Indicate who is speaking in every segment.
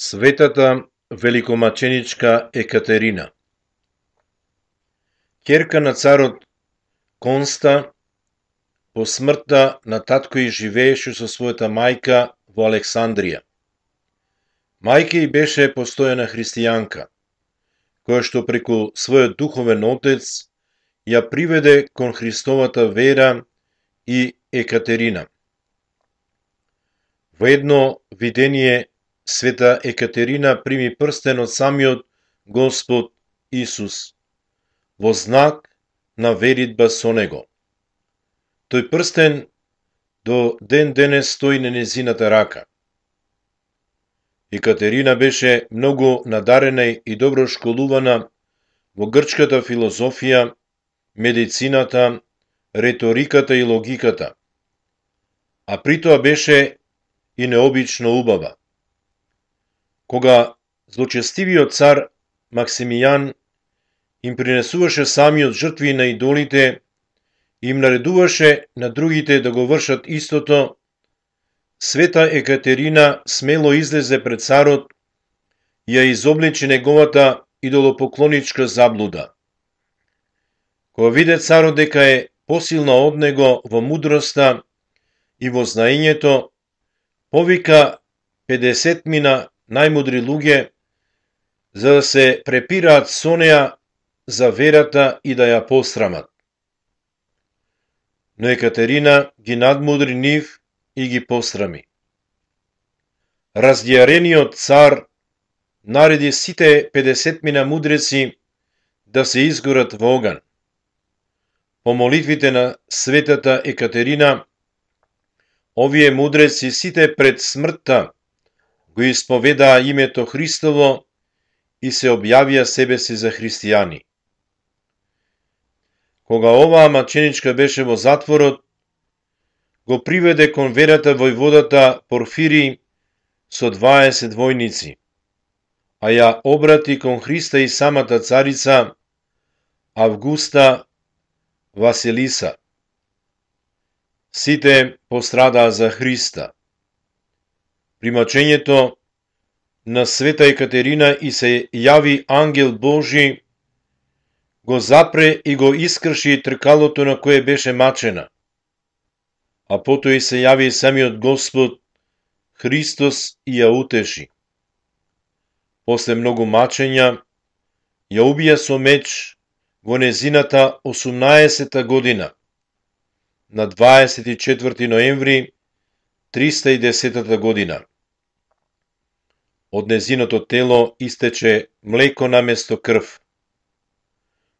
Speaker 1: Светата великомаченичка Екатерина, ќерка на царот Конста, по смртта на татко и живееше со својата мајка во Александрија. Мајка и беше постојана христијанка, која што преку својот духовен отец ја приведе кон Христовата вера и Екатерина. Во едно видение света Екатерина прими прстен од самиот Господ Исус, во знак на веридба со него. Тој прстен до ден денес стои на незината рака. Екатерина беше многу надарена и добро школувана во грчката филозофија, медицината, реториката и логиката, а притоа беше и необично убава. Кога злочестивиот цар Максимијан им принесуваше самиот жртви на идолите, им наредуваше на другите да го вршат истото, света Екатерина смело излезе пред царот и ја изобличи неговата идолопоклоничка заблуда. Кога виде царот дека е посилна од него во мудроста и во знаењето, повика 50 најмудри луѓе за да се препираат со неа за верата и да ја посрамат. Но Екатерина ги надмудри нив и ги посрами. Разјарениот цар нареди сите 50 мудреци да се изгорат во оган. По молитвите на светата Екатерина, овие мудреци сите пред смртта го исповедаа името Христово и се објавија себе си за христијани. Кога оваа маченичка беше во затворот, го приведе кон верата војводата Порфирий со 20 војници, а ја обрати кон Христа и самата царица Августа Василиса. Сите пострадаа за Христа. При мачењето на света Екатерина и се јави ангел Божи, го запре и го искрши тркалото на кое беше мачена, а потоа и се јави самиот Господ Христос и ја утеши. После многу мачења, ја убија со меч во незината 18-та година, на 24 ноември 310 година. Од незиното тело истече млеко наместо крв.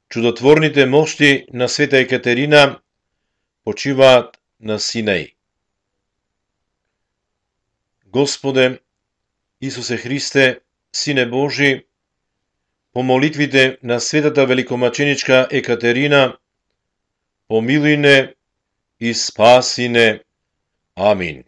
Speaker 1: Чудотворните мошти на света Екатерина почиваат на Синај. Господе Исусе Христе, Сине Божи, по молитвите на светата великомаченичка Екатерина, помилуј не и спаси не. Амин.